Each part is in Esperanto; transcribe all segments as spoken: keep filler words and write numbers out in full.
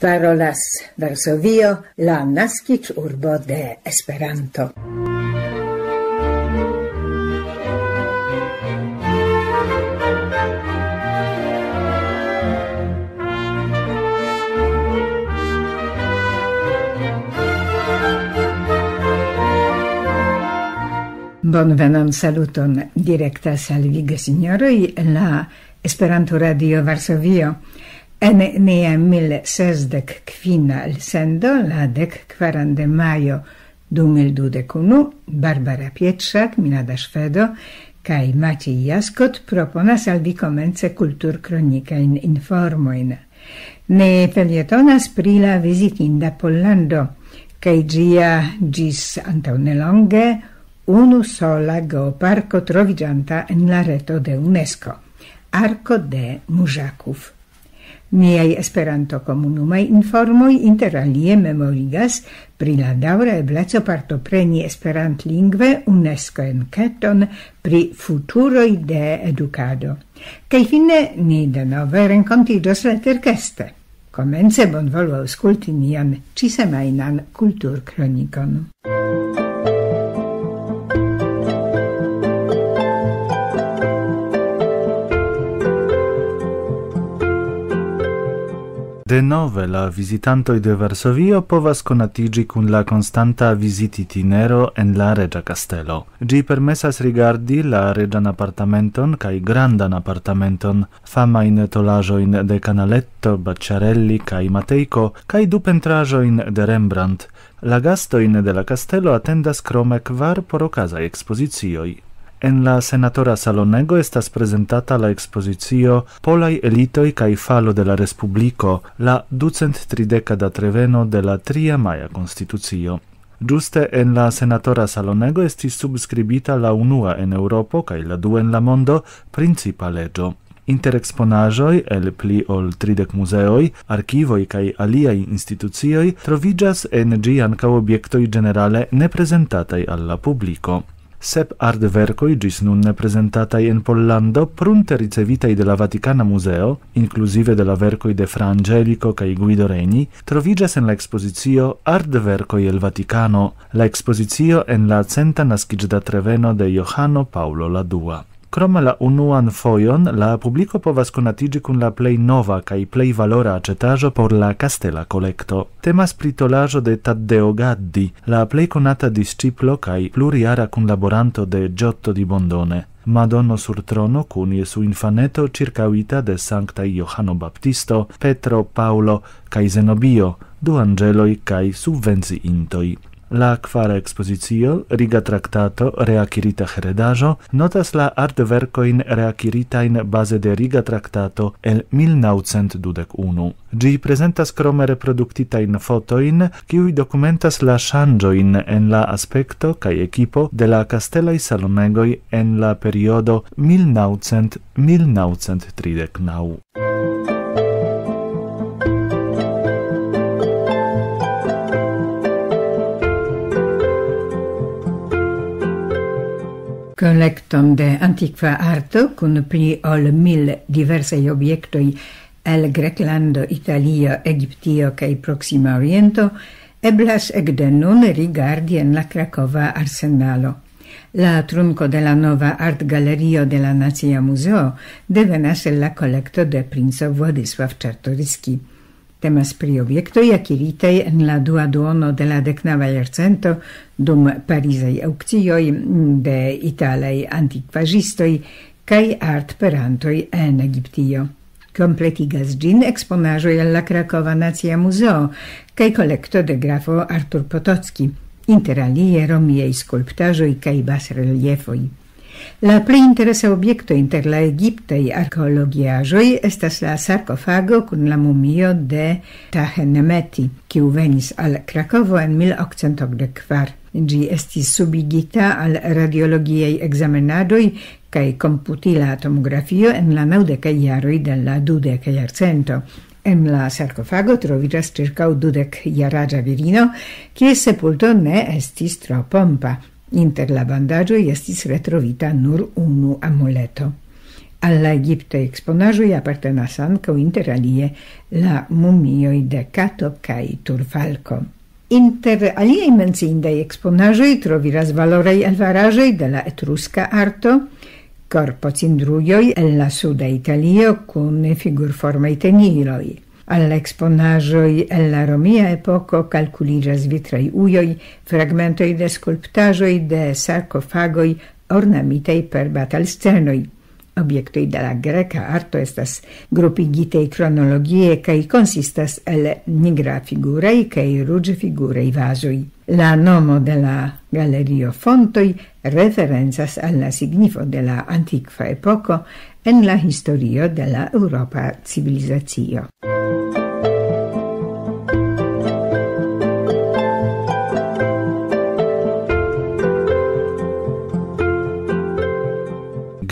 Parolas Varsovio, la naskiĝurbo de Esperanto. Bonvenon, saluton. Direktas al vi, gesinjoroj, la Esperanto Radio Varsovio. En nia mil sesdek kvina elsendo, la dek kvaran de majo du mil dudek unu, Barbara Pietrzak, Milada Szwedo kaj Maciej Jaskot proponas al vi komence kulturkronikajn informojn. Ni felietonas pri la vizitinda Pollando, kaj ĝia ĝis antaŭ nelonge unu sola geoparko troviĝanta en la reto de UNESCO, Arko de Mużaków. Niaj Esperanto-komunumaj informoj inter alie memorigas pri la daŭra ebleco partopreni esperantlingve UNESCO-enketon pri futuroj de edukado. Kaj fine ni denove renkontiĝos leterkeste. Komence bonvolu aŭskulti nian ĉisemajnan kulturkronikon. Denove la vizitantoj de Varsovio povas konatiĝi kun la konstanta vizitinero en la Reĝa Kastelo. Ĝi permesas rigardi la reĝan apartamenton kaj grandan apartamenton, famajn tolaĵojn de Canaletto, Bacciarelli kaj Matejko, kaj du pentraĵojn de Rembrandt. La gastojn de la kastelo atendas krome kvar porokazaj ekspozicioj. En la senatora salonego estas prezentata la ekspozicio Polaj elitoj kaj falo de la respubliko, la ducent trideka datreveno de la tria maja konstitucio. Ĝuste en la senatora salonego estis subskribita la unua en Eŭropo kaj la dua en la mondo principa leĝo. Inter eksponaĵoj el pli ol tridek muzeoj, arkivoj kaj aliaj institucioj troviĝas en ĝi ankaŭ objektoj ĝenerale neprezentataj al la publiko. Sep artverkoj ĝis nun neprezentataj en Pollando, prunte ricevitaj de la Vatikana Muzeo, inkluzive de la verkoj de Fra Angelico kaj Guido Reni, troviĝas en la ekspozicio Artverkoj el Vatikano, la ekspozicio en la centa naskiĝdatreveno de Johano Paŭlo la dua. Krome la unuan fojon la publiko povas konatiĝi kun la plej nova kaj plej valora aĉetaĵo por la kastela kolekto. Temas pri tolaĵo de Taddeo Gaddi, la plej konata disĉiplo kaj plurjara kunlaboranto de Giotto di Bondone. Madono sur trono kun Jesu infaneto, ĉirkaŭita de sanktaj Johano Baptisto, Petro, Paŭlo kaj Zenobio, du anĝeloj kaj subvenciintoj. La kvara ekspozicio, Riga Traktato, reakirita heredaĵo, notas la artverkojn reakiritajn baze de Riga Traktato el mil naŭcent dudek unu. Ĝi prezentas krome reproduktitajn fotojn, kiuj dokumentas la ŝanĝojn en la aspekto kaj ekipo de la kastelaj salonegoj en la periodo mil naŭcent mil naŭcent tridek naŭ. Kolekton de antikva arto kun pli ol mil diversaj objektoj el Greklando, Italio, Egiptio kaj Proksima Oriento eblas ekde nun rigardi en la Krakova Arsenalo. La trunko de la nova artgalerio de la Nacia Muzeo devenas el la kolekto de princo Władysław Czartoryski. Temas pri objektoj akiritaj en la dua duono de la deknava jarcento dum parizaj aŭkcioj de italaj antikvaĵistoj kaj artperantoj en Egiptio. Kompletigas ĝin eksponaĵoj el la Krakova Nacia Muzeo kaj kolekto de grafo Artur Potocki, inter alie romiaj skulptaĵoj kaj basreliefoj. La plej interesa objekto inter la egiptaj arkeologiaĵoj estas la sarkofago kun la mumio de Tahe Nemeti, kiu venis al Krakovo en mil okcent okdek kvar. Ĝi estis subigita al radiologiaj ekzamenadoj kaj komputila tomografio en la naŭdekaj jaroj de la dudeka jarcento. En la sarkofago troviĝas ĉirkaŭ dudek-jaraĝa virino, kies sepulto ne estis tro pompa. Inter la bandaĝoj estis retrovita nur unu amuleto. Al la egiptaj eksponaĵoj apartenas ankaŭ, inter alie, la mumioj de kato kaj turfalko. Inter aliaj menciindaj eksponaĵoj troviras valoraj alvaraĵoj de la etruska arto, korpocindrujoj el la suda Italio kun figurformaj teniloj. Al la eksponaĵoj el la romia epoko kalkuliĝas vitraj ujoj, fragmentoj de skulptaĵoj de sarkofagoj ornamitaj per batalscenoj. Objektoj de la greka arto estas grupigitaj kronologie kaj konsistas el nigrafiguraj kaj ruĝfiguraj vazoj. La nomo de la galerio Fontoj referencas al la signifo de la antikva epoko en la historio de la eŭropa civilizacio.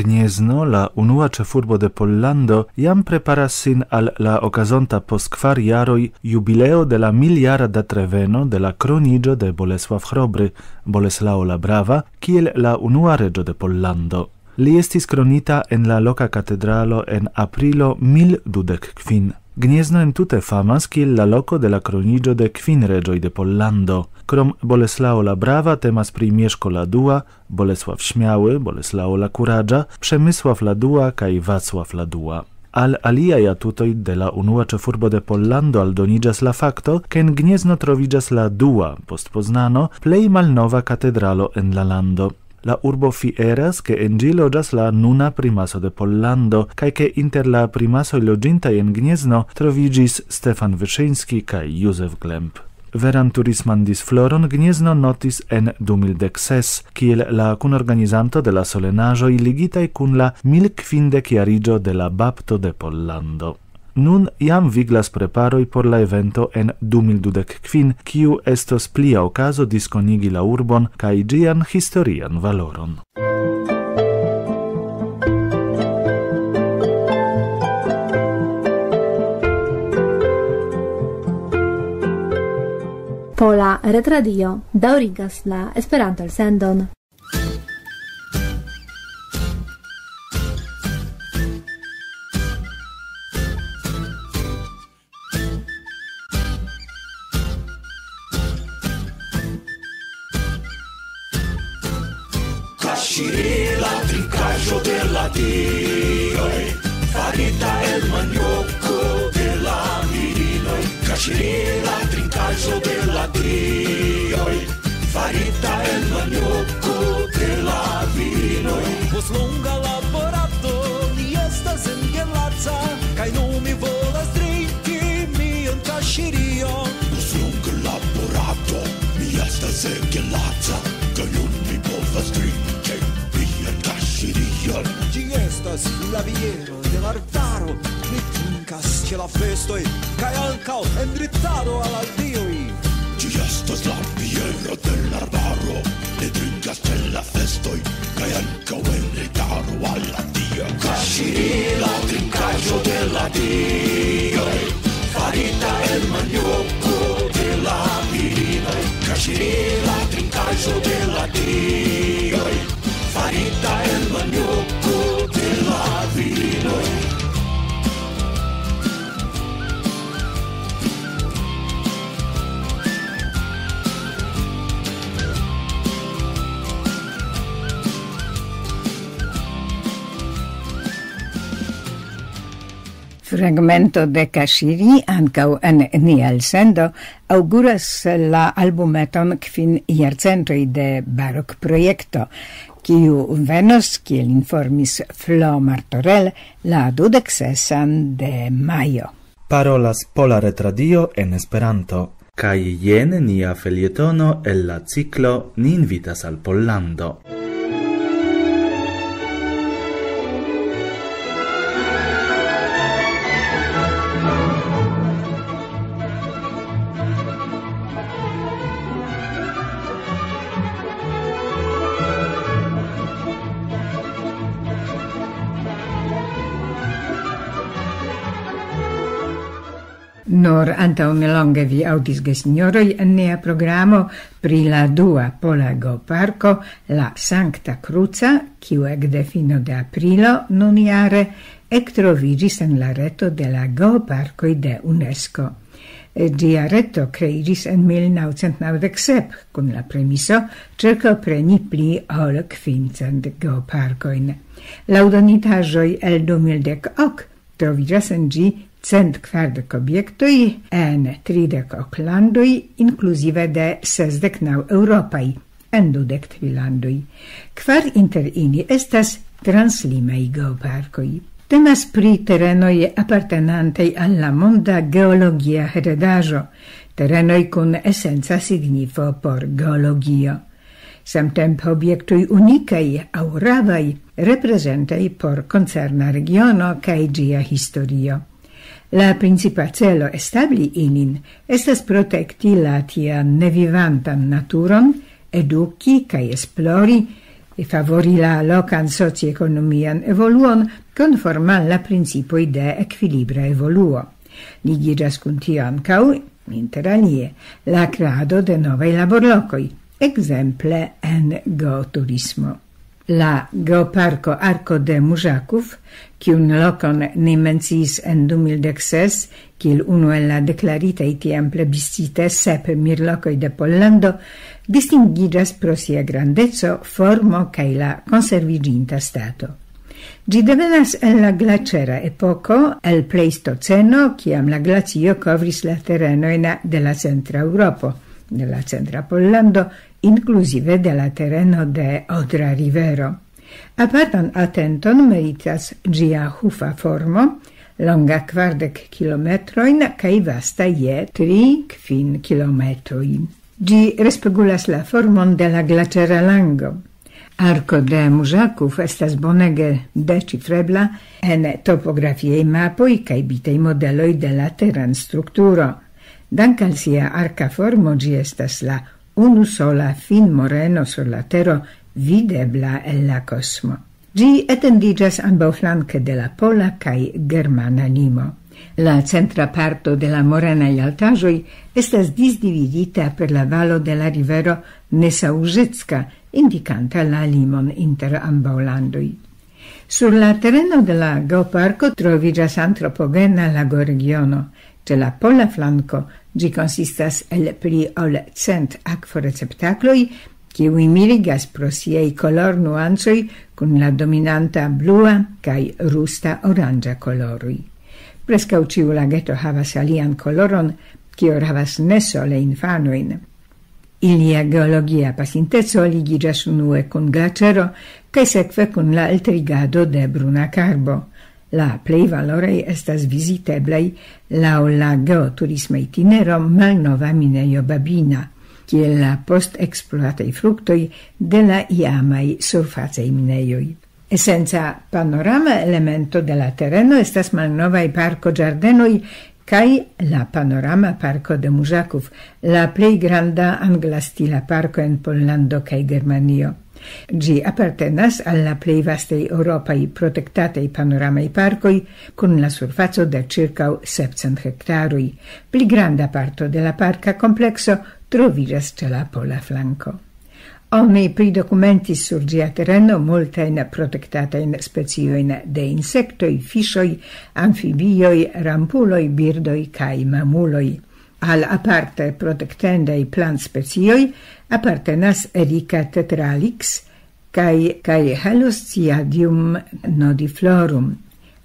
Gniezno, la unua ĉefurbo de Pollando, jam preparas sin al la okazonta post kvar jaroj jubileo de la miljara datreveno de la kroniĝo de Bolesław Chrobry, Boleslao la Brava, kiel la unua reĝo de Pollando. Li estis kronita en la loka katedralo en aprilo mil dudek kvin. Gniezno entute famas kiel la loko de la kroniĝo de kvin reĝoj de Pollando. Krom Boleslao la Brava temas pri Mieszko la dua, Bolesław Śmiały, Boleslao la Kuraĝa, Przemysław la dua kaj Wacław la dua. Al aliaj atutoj de la unua ĉefurbo de Pollando aldoniĝas la fakto, ke en Gniezno troviĝas la dua, post Poznano, plej malnova katedralo en la lando. La urbo fieras, ke en ĝi loĝas la nuna primaso de Pollando, kaj ke inter la primasoj loĝintaj en Gniezno troviĝis Stefan Wyszyński kaj Józef Glemp. Veran turisman disfloron Gniezno notis en du mil dek ses, kiel la kunorganizanto de la solenaĵoj ligitaj kun la mil kvindek jariĝo de la bapto de Pollando. Nun jam viglas preparoj por la evento en du mil dudek kvin, kiu estos plia okazo diskonigi la urbon kaj ĝian historian valoron. Pola Retradio daŭrigas la Esperanto-elsendon. Kaŝiri, la trinkaĵo de la dioj, farita el manioko de la virinoj. Kaŝiri, la trinkaĵo de la dioj, farita el manioko de la virinoj. Post longa laborado, mi estas engelaca, kaj nun mi volas drinki mian kaŝirion. Post longa laborado, mi estas engelaca, kaj nun mi povas drinki mian kaŝirion. Ĝi estas la biero de la arbaro, mi trinkas ĉe la festoj, kaj ankaŭ en ritado al la dioj. Ĝi estas la biero de la arbaro, mi trinkas ĉe la festoj, kaj ankaŭ en ritado al la dioj. Kaŝiri, la trinkaĵo de la dioj, farita el manioko de la virinoj. Kaŝiri, la trinkaĵo de la dioj, farita el manioko de la virinoj. Fragmento de Kaŝiri ankaŭ en nia elsendo aŭguras la albumeton kvin jarcentoj de barokprojekto, kiu venos, kiel informis Flo Martorell, la dudek sesan de majo. Parolas Pola Retradio en Esperanto. Kaj jen nia felietono el la ciklo Ni invitas al Pollando. Nur antaŭ nelonge vi aŭdis, gesinjoroj, en nia programo pri la dua pola geoparko, la Sankta Kruca, kiu ekde fino de aprilo nunjare ektroviĝis en la reto de la geoparkoj de UNESCO. Ĝia reto kreiĝis en mil naŭcent naŭdek sep kun la premiso ĉirkaŭpreni pli ol kvincent geoparkojn. Laŭ donitaĵoj el du mil dek ok troviĝas en ĝi cent kvardek objektoj en tridek ok landoj, inkluzive de sesdek naŭ eŭropaj en dudek tri landoj. Kvar inter ili estas translimaj geoparkoj. Temas pri terenoj apartenantaj al la monda geologia heredaĵo, terenoj kun esenca signifo por geologio. Samtempe objektoj unikaj aŭ ravaj, reprezentaj por koncerna regiono kaj ĝia historio. La principa celo establi ilin estas protekti la tiam nevivantan naturon, eduki kaj esplori, favori la lokan sociekonomian evoluon konforme al la principoj de ekvilibra evoluo. Ligiĝas kun tio ankaŭ, inter alie, la kreado de novaj laborlokoj, ekzemple en geoturismo. La geoparko Arko de Mujakov, kiun lokon ni menciis en du mil dek ses, kiel unu el la deklaritaj tiam plebiscite sep mirlokoj de Pollando, distingiĝas pro sia grandeco, formo kaj la konserviĝinta stato. Ĝi devenas el la glaĉera epoko, el Pleistoceno, kiam la glacio kovris la terenojn de la centra Eŭropo, de la centra Pollando, inkluzive de la tereno de Odra rivero. Apartan atenton meritas ĝia hufa formo, longa kvardek kilometrojn kaj vasta je tri kvin kilometroj. Ĝi respegulas la formon de la glaĉera lango. Arko de Mujakov estas bonege deĉifrebla en topografiaj mapoj kaj bitaj modeloj de la teranstrukturo. Dank' al sia arka formo, ĝi estas la unusola finmoreno sur la tero videbla el la kosmo. Ĝi etendiĝas ambaŭflanke de la pola kaj germana limo. La centra parto de la morenaj altaĵoj estas disdividita per la valo de la rivero Nesaužicka, indikanta la limon inter ambaŭ landoj. Sur la tereno de la geoparko troviĝas antropogena lagoregiono. Ĉe la pola flanko ĝi konsistas el pli ol cent akvoreceptakloj, kiuj mirigas pro siaj kolornuancoj kun la dominanta blua kaj rusta oranĝa koloroj. Preskaŭ ĉiu lageto havas alian koloron, kio havas ne sole infanojn. Ilia geologia pasinteco ligiĝas unue kun glaĉero kaj sekve kun la eltrigado de bruna karbo. La plej valoraj estas viziteblaj laŭ la geoturisma itinero Malnova Minejo Babina, kiel la postekspluataj fruktoj de la iamaj surfacaj minejoj. Esenca panorama elemento de la tereno estas malnovaj parkoĝardenoj kaj la panorama parko de Mujakov, la plej granda anglastila parko en Pollando kaj Germanio. Ĝi apartenas al la plej vastaj eŭropaj protektataj panoramaj parkoj kun la surfaco de ĉirkaŭ sepcent hektaroj. Pli granda parto de la parka komplekso troviĝas ĉe la pola flanko. Oni pridokumentis sur ĝia tereno multajn protektatajn speciojn de insektoj, fiŝoj, amfibioj, rampuloj, birdoj kaj mamuloj. Al aparte protektendaj plantspecioj apartenas Erika tetralix kaj, kaj Halosciadium nodiflorum.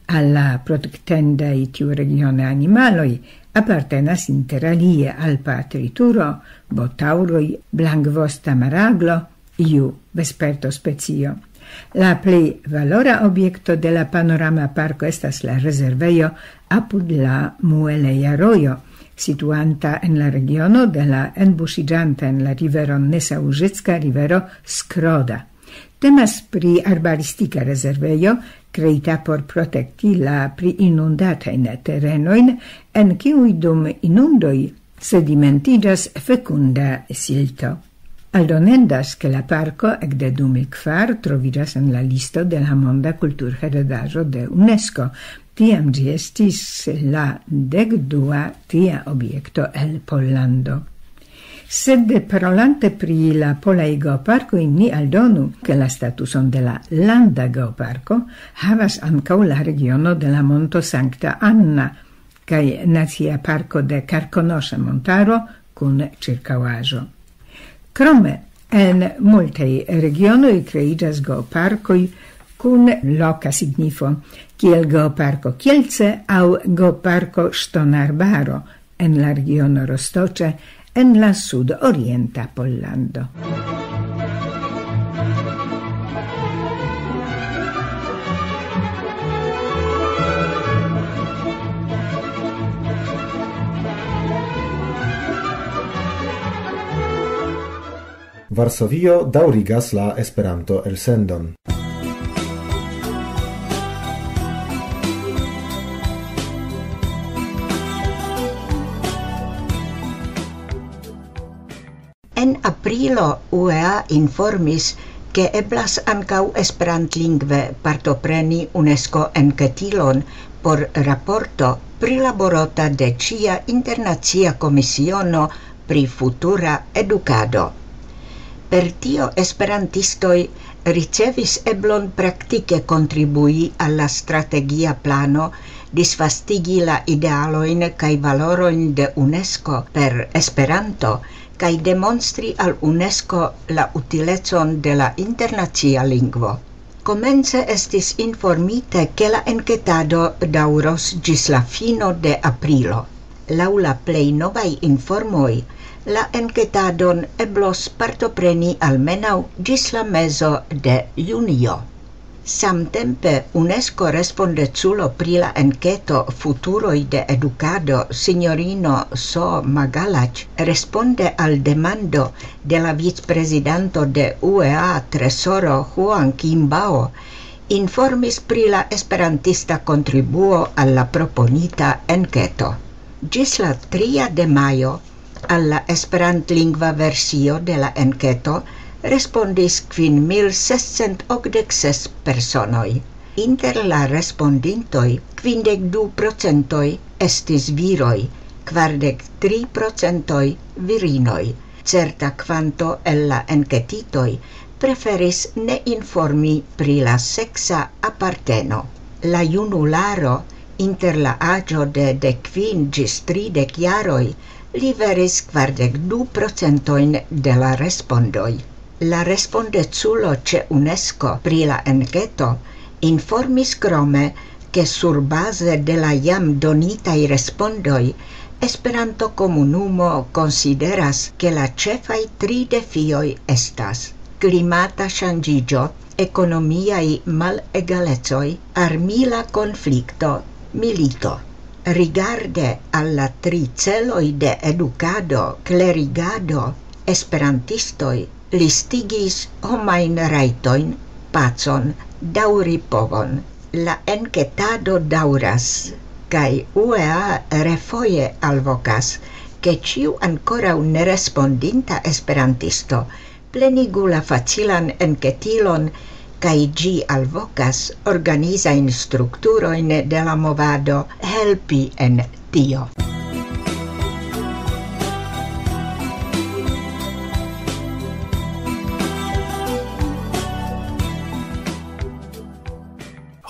Al la protektendaj tiuregione animaloj apartenas inter alie alpa trituro, botaŭroj, blankvosta maraglo, iu vesperto specio. La plej valora objekto de la panorama parko estas la rezervejo apud la Mueleja Rojo, situanta en la regiono de la enbuŝiĝanta en la riveron Nesaužicka rivero Skroda. Temas pri arbaristika rezervejo, kreita por protekti la pli inundatajn terenojn, en kiuj dum inundoj sedimentiĝas fekunda silto. Aldonendas, ke la parko ekde du mil kvar troviĝas en la listo de la Monda Kulturheredaĵo de UNESCO, Tiam ĝi estis la dek dua tia objekto el Pollando. Sed parolante pri la polaj geoparkoj, ni aldonu, ke la statuson de la landa geoparko havas ankaŭ la regiono de la Monto Sankta Anna kaj Nacia Parko de Karkonoŝa Montaro kun ĉirkaŭaĵo. Krome, en multaj regionoj kreiĝas geoparkoj kun loka signifo, kiel Geoparko Kielce aŭ Geoparko Ŝtonarbaro en la regiono Rostoĉe en la sudorienta Pollando. Varsovio daŭrigas la Esperanto-elsendon. En aprilo U E A informis, ke eblas ankaŭ esperantlingve partopreni UNESCO enketilon por raporto prilaborota de ĉia internacia komisiono pri futura edukado. Per tio esperantistoj ricevis eblon praktike kontribui al la strategia plano, disvastigi la idealojn kaj valorojn de UNESCO per Esperanto, kaj demonstri al UNESCO la utilecon de la internacia lingvo. Komence estis informite, ke la enketado daŭros ĝis la fino de aprilo. Laŭ la plej novaj informoj, la enketadon eblos partopreni almenaŭ ĝis la mezo de junio. Samtempe UNESCO respondeculo pri la enketo Futuroj de Edukado, sinjorino So Magalac, responde al demando de la vicprezidanto de U E A Tresoro Huang Qimbao, informis pri la esperantista kontribuo al la proponita enketo. Ĝis la tria de majo al la esperantlingva versio de la enketo respondis kvin mil sescent okdek ses personoj. Inter la respondintoj kvindek du procentoj estis viroj, kvardek tri procentoj virinoj. Certa kvanto el la enketitoj preferis ne informi pri la seksa aparteno. La junularo inter la aĝo de dek kvin ĝis tridek jaroj liveris kvardek du procentojn de la respondoj. La respondeculo ĉe UNESCO pri la enketo informis krome, ke surbaze de la jam donitaj respondoj, Esperanto-komunumo konsideras, ke la ĉefaj tri defioj estas: klimata ŝanĝiĝo, ekonomiaj malegalecoj, armila konflikto, milito. Rigarde al la tri celoj de edukado, klerigado, esperantistoj listigis homajn rajtojn, pacon, daŭripovon. La enketado daŭras, kaj U E A refoje alvokas, ke ĉiu ankoraŭ nerespondinta esperantisto plenigu la facilan enketilon, kaj ĝi alvokas organizajn strukturojn de la movado helpi en tio.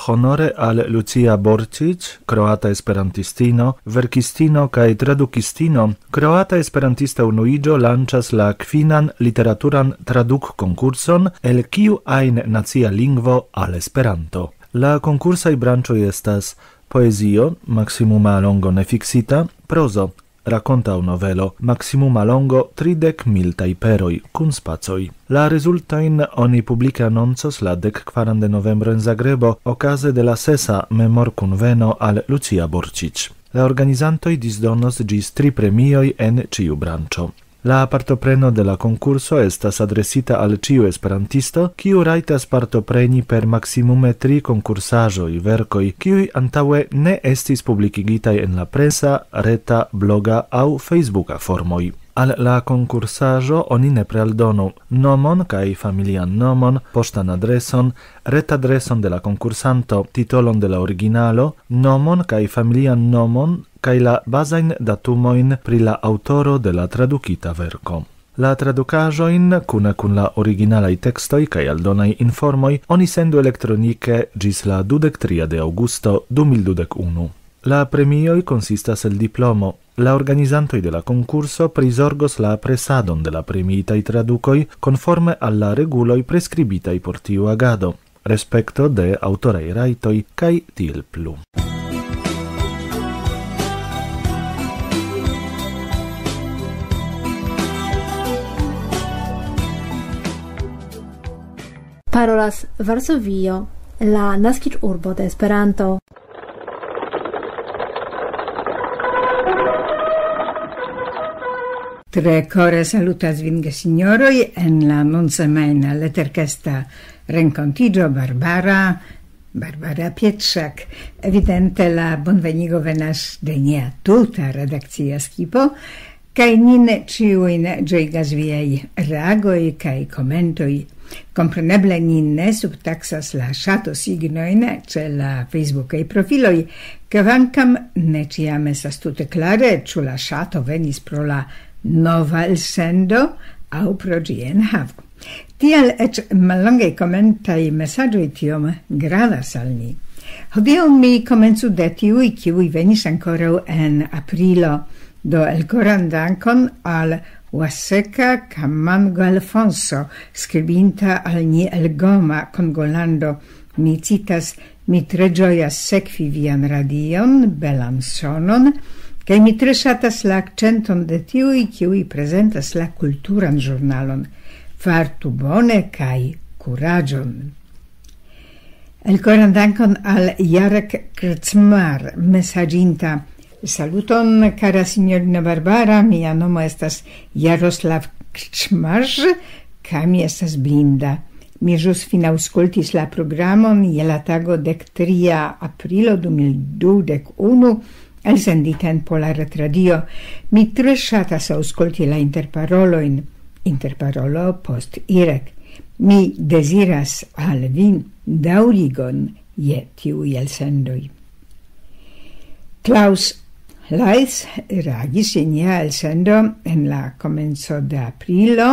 Honore al Lucia Borcic, kroata esperantistino, verkistino kaj tradukistino, Kroata Esperantista Unuiĝo lanĉas la kvinan literaturan tradukkonkurson, el kiu ajn nacia lingvo al Esperanto. La konkursaj branĉoj estas poezio, maksimuma longo nefiksita, prozo, rakonta aŭ novelo, maksimuma longo tridek mil tajperoj, kun spacoj. La rezultojn oni publike anoncos la dek kvaran de novembro en Zagrebo, okaze de la sesa memorkunveno al Lucia Borcic. La organizantoj disdonos ĝis tri premioj en ĉiu branĉo. La partopreno de la konkurso estas adresita al ĉiu esperantisto, kiu rajtas partopreni per maksimume tri konkursaĵoj, verkoj, kiuj antaŭe ne estis publikigitaj en la presa, reta, bloga aŭ Facebooka formoj. Al la konkursaĵo oni nepre aldonu nomon kaj familian nomon, poŝtan adreson, retadreson de la konkursanto, titolon de la originalo, nomon kaj familian nomon kaj la bazajn datumojn pri la aŭtoro de la tradukita verko. La tradukaĵojn, kune kun la originalaj tekstoj kaj aldonaj informoj, oni sendu elektronike ĝis la dudek tria de aŭgusto du mil dudek unu. La premioj konsistas el diplomo. La organizantoj de la konkurso prizorgos la presadon de la premiitaj tradukoj konforme al la reguloj preskribitaj por tiu agado, respekto de aŭtoraj rajtoj kaj tiel plu. Parolas Varsovio, la naskiĝurbo de Esperanto. Tre kore salutas vin, gesinjoroj, en la nunsemajna leterkesta renkontiĝo Barbara, Barbara Pietrzak. Evidente la bonvenigo venas de nia tuta redakcia skipo, kaj nin ĉiujn ĝojigas viaj reagoj kaj komentoj. Kompreneble ni ne subtaksas la ŝato signojn ĉe la Facebookaj profiloj, kvankam ne ĉiam estas tute klare, ĉu la ŝato venis pro la nova elsendo aŭ pro ĝia enhavo. Tial eĉ mallongaj komentaj mesaĝoj tiom gravas al ni. Hodiaŭ mi komencu de tiuj, kiuj venis ankoraŭ en aprilo. Do elkoran dankon al Waseka Kamango Alfonso, skribinta al ni el Goma, Kongolando. Mi citas: "Mi tre ĝojas sekvi vian radion, belan sonon, kaj mi tre ŝatas la akĉenton de tiuj, kiuj prezentas la kulturan ĵurnalon. Fartu bone kaj kuraĝon." Elkoran dankon al Jarek Krcmar, mesaĝinta: "Saluton, kara sinjorino Barbara, mia nomo estas Jaroslav Krcmar, kaj mi estas blinda. Mi ĵus finaŭskultis la programon je la tago dek tria aprilo du mil dudek unu, elsendita en Pola Retradio. Mi tre ŝatas aŭskulti la interparolojn, interparolo post Irek. Mi deziras al vi daŭrigon je tiuj elsendoj." Klaus Leis reagis je nia elsendo en la komenco de aprilo,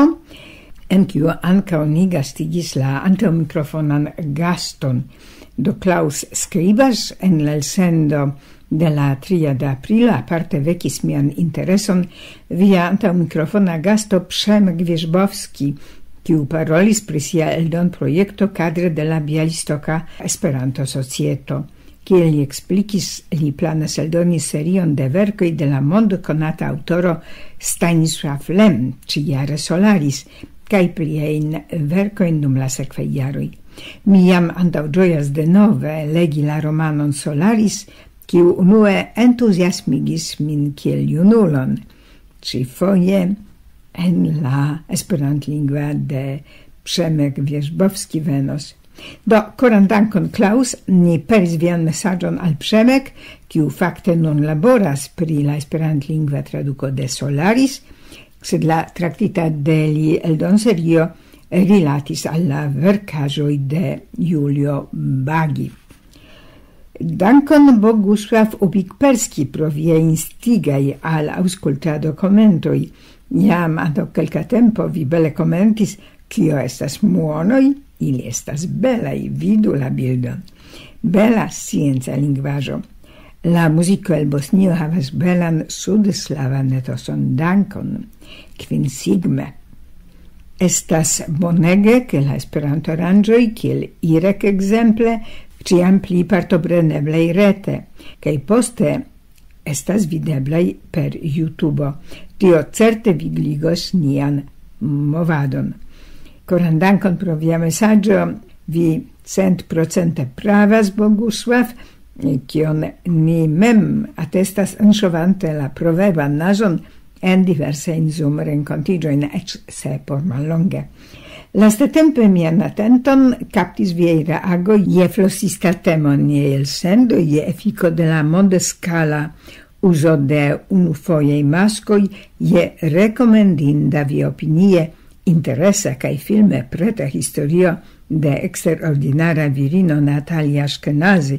en kiu ankaŭ ni gastigis la antaŭmikrofonan gaston. Do Klaus skribas: "En la elsendo de la tria de aprilo aparte vekis mian intereson via antaŭmikrofona gasto Przemek Wierzbowski, kiu parolis pri sia eldonprojekto kadre de la Bialistoka Esperanto-Societo. Kiel li eksplikis, li planas eldoni serion de verkoj de la mondkonata aŭtoro Stanisław Lem, ĉijare Solaris, kaj pliajn verkojn dum la sekvaj jaroj. Mi jam antaŭĝojas denove legi la romanon Solaris, kiu unue entuziasmigis min kiel junulon, ĉifoje en la esperantlingva de Przemek Wierzbowski venos. Do, koran dankon, Klaus. Ni peris vian mesaĝon al Przemek, kiu fakte nun laboras pri la esperantlingva traduko de Solaris, sed la traktita de li eldonserio rilatis al la verkaĵoj de Julio Bagi. Dankon, Bogusław Ubik-Perski, pro viaj instigaj al aŭskultado komentoj. Jam antaŭ kelka tempo vi bele komentis: "Kio estas muonoj? Ili estas belaj, vidu la bildon." Bela scienca lingvaĵo. La muziko el Bosnio havas belan sudslavan etoson. Dankon. Kvin sigme. Estas bonege, ke la Esperanto-aranĝoj, kiel Irek ekzemple, ĉiam pli partopreneblaj rete, kaj poste estas videblaj per YouTube. Tio certe vigligos nian movadon. Koran dankon pro via mesaĝo. Vi centprocente pravas, Bogusław. Kion ni mem atestas, anŝovante la proverban naĵon en diversajn Zoom-renkontiĝojn, eĉ se por mallonge. Lastatempe mian atenton kaptis viaj reagoj je flosista temo en niaj elsendoj, je efiko de la mondskala Uzo de unufojaj maskoj je rekomendinda vi opinie interesa kaj filme preta historio de eksterordinara virino Natalia Ashkenazi,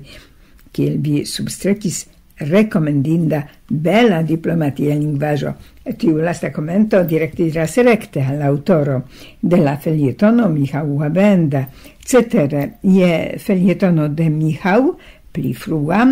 kiel vi substrekis, rekomendinda bela diplomatia lingvaĵo. Tiu lasta komento direktiras rekte al aŭtoro de la felietono Michał Łabęda. Cetere, je felietono de Michał, pli frua,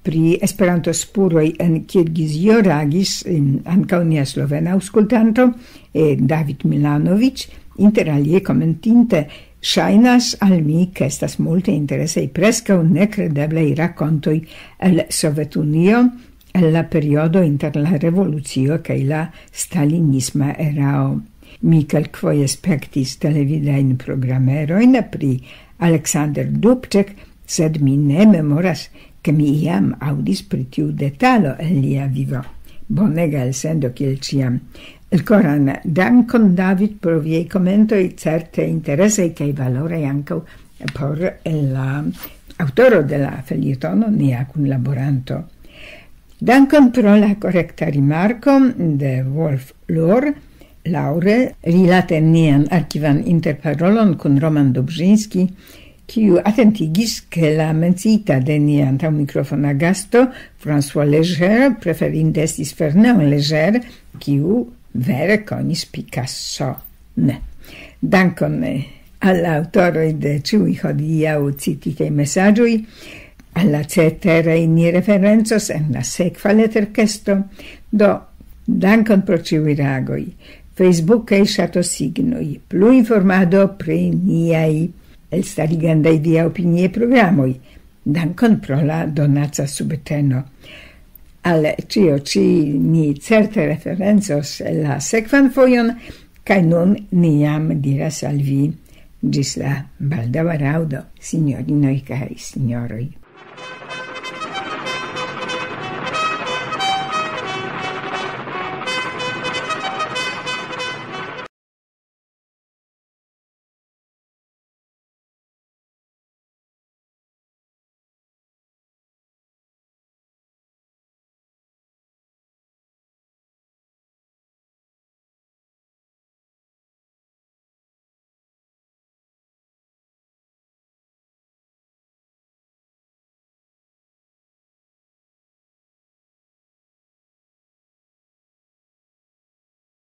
pri Esperanto-spuroj en Kirgizio reagis, em, ankaŭ nia slovena aŭskultanto, eh, David Milanovic, inter alie komentinte: "Ŝajnas al mi, ke estas multe interesaj, preskaŭ nekredeblaj rakontoj el Sovetunio, el la periodo inter la revolucio kaj la stalinisma erao." Mi kelkfoje spektis televidajn programerojn pri Aleksander Dubček, sed mi ne memoras, ke mi iam aŭdis pri tiu detalo el lia vivo. Bonega elsendo kiel ĉiam. Elkoran dankon, David, pro viaj komentoj, certe interesaj kaj valoraj ankaŭ por la aŭtoro de la felietono, nia kunlaboranto. Dankon pro la korekta rimarko de Wolf Lor. Laŭre, rilate nian arkivan interparolon kun Roman Dobrzinski, kiu atentigis, ke la menciita de nia antaŭmikrofona gasto, François Léger, preferinde estis Fernand Léger, kiu vere konis Picasso. Ne. Dankon, eh, al la aŭtoroj de ĉiuj hodiaŭ cititaj mesaĝoj. Al la ceteraj ni referencos en la sekva leterkesto. Do, dankon pro ĉiuj reagoj. Facebook kaj ŝatosignoj. Plu informado pri niaj elstarigendaj via opinie programoj. Dankon pro la donaca subteno. Al ĉio ĉi ni certe referencos la sekvan fojon, kaj nun ni jam diras al vi ĝis la baldaŭa raŭdo, sinjorinoj kaj sinjoroj.